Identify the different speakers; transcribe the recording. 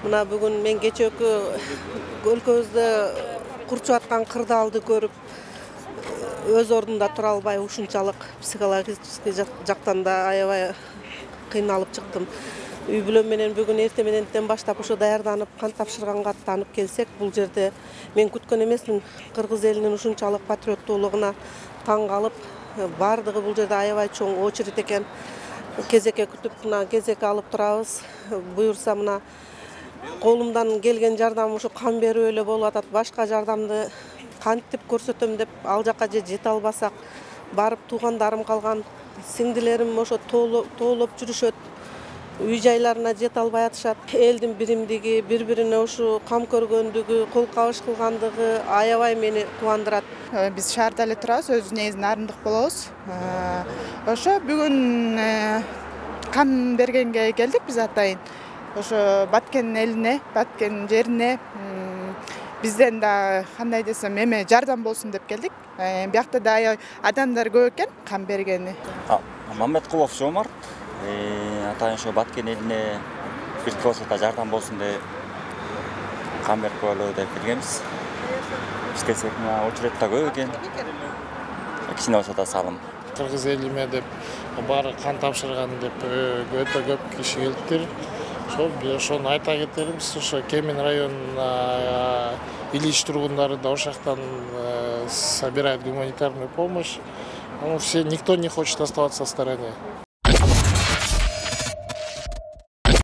Speaker 1: Мына бүгүн мен кечээкү өлкөбүздө курчуп аткан кырдаалды көрүп өз ордунда тура албай ушунчалык психологический жактан да аябай кыйналып чыктым. Үй бүлөм менен бүгүн эрте мененден баштап ошо даярданып, кан тапшырганга аттанып келсек, бул жерде мен күткөн эмесмин. Кыргыз элинин ушунчалык патриоттуулугуна таң калып, бардыгы бул жерде аябай чоң очередь экен. Кезекке күтүп, мына кезек алып турабыз. Буюрса мына колумдан келген жардам ушу кан берүү эле болуп атат. Башка жардамды кантип көрсөтөм деп ал жака же жете албасак, барып туугандарым калган, сиңдилерим ошо тоолоп жүрүшөт. Үй жайларына жете албай атышат. Элдин биримдиги, бири-бирине ушу кам көргөндүгү, кол кабыш кылгандыгы аябай мени кубандырат.
Speaker 2: Биз шаарда эле турабыз, өз негизинен Нарындык болобуз. Ошо бүгүн кан бергенге келдик биз атайын. Ошо Баткен элине, Баткен жерине бизден да кандай десем, эме жардам болсун деп келдик. Биякта да аябай адамдар көп экен кан бергени.
Speaker 3: Маметкулов Жомарт, атайын ошо Баткен элине бирке болсо да жардам болсун деп кан берип коелу деп келгенбиз. Биз келсек, очередь да көп экен. Кичине болсо да салым.
Speaker 4: Кыргыз элиме деп баары кан тапшырган деп өтө көп киши келиптир. Ошону айта кетербиз, ошо Кемин районуна Ильич тургундары да ошол жактан собирает гуманитарную помощь. Никто не хочет оставаться в стороне.